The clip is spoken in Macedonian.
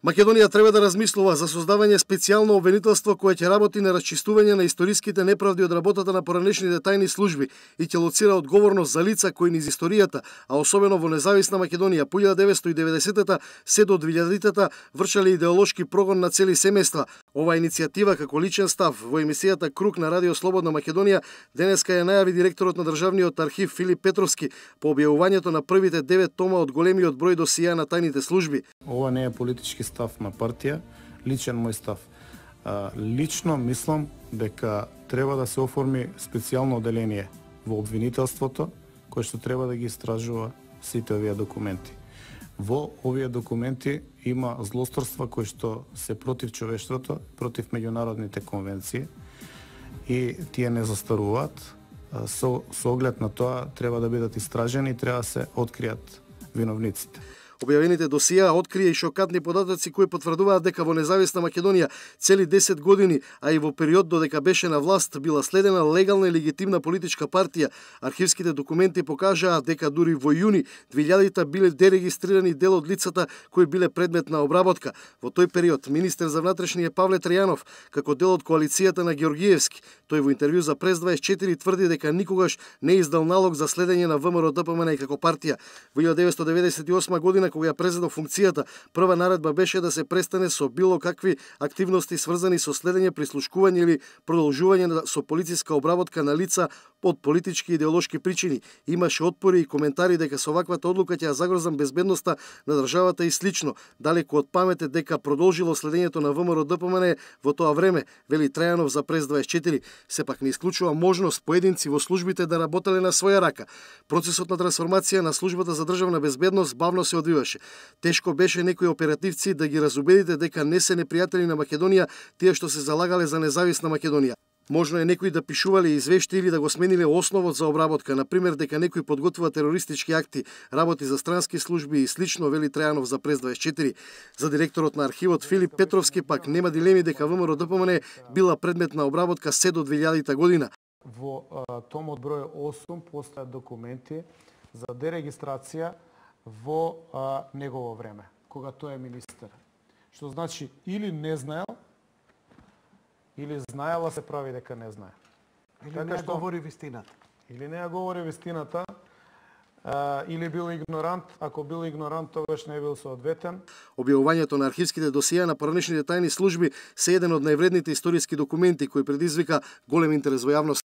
Македонија треба да размислува за создавање специјално обвинителство кое ќе работи на расчистување на историските неправди од работата на поранешните тајни служби и ќе лоцира одговорност за лица кои низ историјата, а особено во независна Македонија по 1990-та се до 2000-та вршале идеолошки прогон на цели семејства. Ова иницијатива како личен став во емисијата Круг на Радио Слободна Македонија денеска ја најави директорот на Државниот архив Филип Петровски по објавувањето на првите 9 тома од големиот број досија на тајните служби. Ова не е политички став на партија, личен мој став. Лично мислам дека треба да се оформи специјално оделение во обвинителството кој што треба да ги истражува сите овие документи. Во овие документи има злосторства кои што се против човештвото, против меѓународните конвенции и тие не застаруваат. Со оглед на тоа треба да бидат истражени и треба да се откријат виновниците. Објавените досија открија и шокатни податоци кои потврдуваат дека во независна Македонија цели 10 години, а и во период додека беше на власт, била следена легална и легитимна политичка партија. Архивските документи покажаат дека дури во јуни 2000-та биле дерегистрирани дел од лицата кои биле предмет на обработка. Во тој период министер за внатрешни е Павле Трајанов, како дел од коалицијата на Ѓоргиевски. Тој во интервју за Прес 24 тврди дека никогаш не издал налог за следење на ВМРО-ДПМН и како партија. Во 1998 година кога ја презедо функцијата, прва наредба беше да се престане со било какви активности сврзани со следење, прислушкување или продолжување со полициска обработка на лица од политички и идеолошки причини. Имаше отпори и коментари дека со ваквата одлука ќе ја загрозам безбедноста на државата и слично. Далеку од памет е дека продолжило следењето на ВМРО-ДПМН во тоа време, вели Трајанов за Прес 24. Сепак не исклучува можност поединци во службите да работеле на своја рака. Процесот на трансформација на службата за државна безбедност бавно се одвиваше. Тешко беше некои оперативци да ги разубедите дека не се непријатели на Македонија тие што се залагале за независна Македонија. Можно е некои да пишувале извешти или да го смениле основот за обработка, например дека некој подготвува терористички акти, работи за странски служби и слично, вели Трајанов за Прес 24. За директорот на архивот Филип Петровски пак нема дилеми дека ВМРО-ДПМН била предмет на обработка се до 2000 година. Во томот број 8 постојат документи за дерегистрација во негово време, кога тој е министер. Што значи или не знаел, или знаела се прави дека не знае. Или така не говори вистината. Или не ја говори вистината, или бил игнорант, ако бил игнорант, тогаш не бил соодветен. Објавувањето на архивските досија на поранешните тајни служби се еден од највредните историски документи кои предизвика голем интерес во јавност.